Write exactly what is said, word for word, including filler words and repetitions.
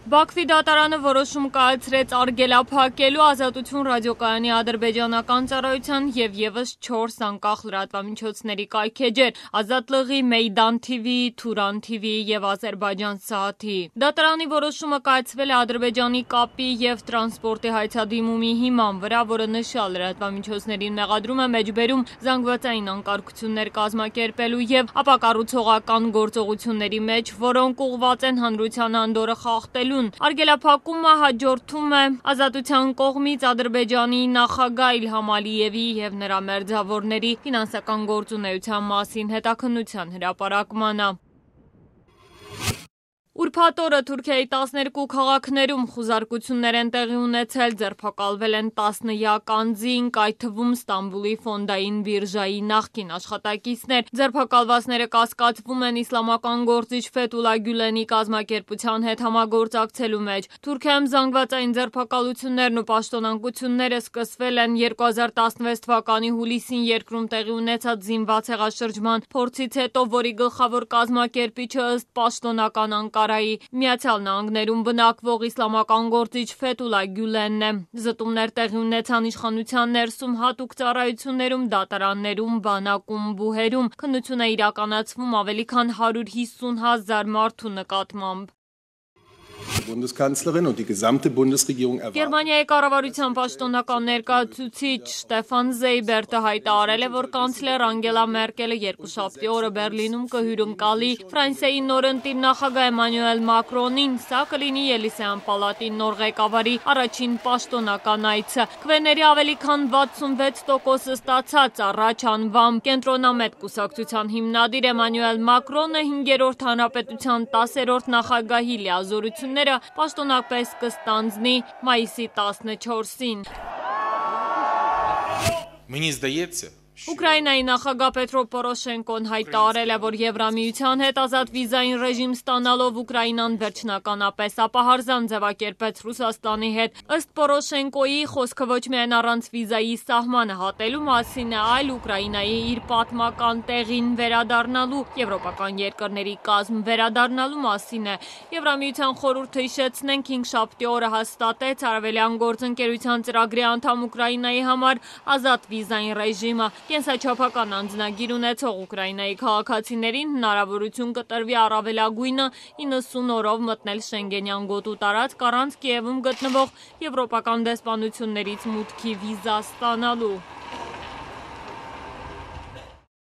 Բաքվի դատարանը որոշում կայացրեց արգելափակելու Ազատություն ռադիոկայանի ադրբեջանական ծառայության և ևս չորս անկախ լրատվամիջոցների կայքէջեր՝ Ազատ լղի, Մեյդան թիվիի, Թուրան թիվիի և Ադրբեջան Սաաթի։ Դատարանի որոշումը կայացվել է Ադրբեջանի կապի և տրանսպորտի հայցադիմումի հիման վրա, որը նշյալ լրատվամիջոցներին մեղադրում է մեջբերում զանգվածային անկարգություններ կազմակերպելու և ապակառուցողական գործողությունների մեջ, որոնք ուղղված են հանրության անդորրը խախտելուն։ Արգելափակումը հաջորդում է Ազատության կողմից Ադրբեջանի նախագահ Իլհամ Ալիևի և նրա մերձավորների ֆինանսական գործունեության մասին հետաքննության հրապարակմանը։ Ուրբաթ օրը Թուրքիայի տասներկու քաղաքներում խուզարկություններ են տեղի ունեցել, ձերբակալվել են տասնյակ անձինք, այդ թվում Ստամբուլի ֆոնդային բիրժայի նախկին աշխատակիցներ։ Ձերբակալվածները կասկածվում են իսլամական գործիչ Ֆեթուլա Գյուլենի կազմակերպության հետ համագործակցելու մեջ։ Թուրքիայում զանգվածային ձերբակալություններն ու պաշտոնանկությունները սկսվել են երկու հազար տասնվեց թվականի հուլիսին երկրում տեղի ունեցած զինված հեղաշրջման փորձից հետո, որի գլխավոր կազմակերպիչը ըստ պաշտոնական Անկարայի Միացյալ Նահանգներում բնակվող իսլամական գործիչ Ֆեթուլա Գյուլենն է։ Զտումներ տեղի ունեցան իշխանության ներսում հատուկ ծառայություններում, դատարաններում, բանակում, բուհերում։ Քննություն է իրականացվում ավելի քան հարյուր հիսուն հազար մարդու նկատմամբ։ Գերմանիայի կառավարության պաշտոնական ներկայացուցիչ Շտեֆան Զեյբերտը հայտարարել է, որ կանցլեր Անգելա Մերկելը երկուշաբթի օրը Բերլինում կհյուրընկալի Ֆրանսիայի նորընտիր նախագահ Էմանուել Մակրոնին, սա կլինի Ելիսեյան պալատի նոր ղեկավարի առաջին պաշտոնական այցը։ Քվեների ավելի քան վաթսունվեց տոկոսը ստացած առաջ անվամբ կենտրոնամետ կուսակցության հիմնադիր Էմանուել Մակրոնը հինգերորդ հանրապետության տասերորդ նախագահի լիազորությունները պաշտոնապես կստանձնի մայիսի տասնչորսին։ Ուկրաինայի նախագահ Պետրո Պորոշենկոն հայտարարել է, որ Եվրամիության հետ ազատ վիզային ռեժիմ ստանալով Ուկրաինան վերջնականապես ապահարզան ձևակերպեց Ռուսաստանի հետ։ Ըստ Պորոշենկոյի, խոսքը ոչ միայն առանց վիզայի սահմանը հատելու մասին է, այլ Ուկրաինայի իր պատմական տեղին վերադառնալու, եվրոպական երկրների կազմ վերադառնալու մասին է։ Եվրամիության խորհուրդը, հիշեցնենք, հինգշաբթի օրը հաստատեց Արևելյան գործընկերության ծրագրի անդամ Ուկրաինայի համար ազատ վիզային ռեժիմը։ Կենսաչափական անձնագիր ունեցող Ուկրաինայի քաղաքացիներին հնարավորություն կտրվի առավելագույնը իննսուն օրով մտնել Շենգենյան գոտու տարածք առանց Կիևում գտնվող եվրոպական դեսպանություններից մուտքի վիզա ստանալու։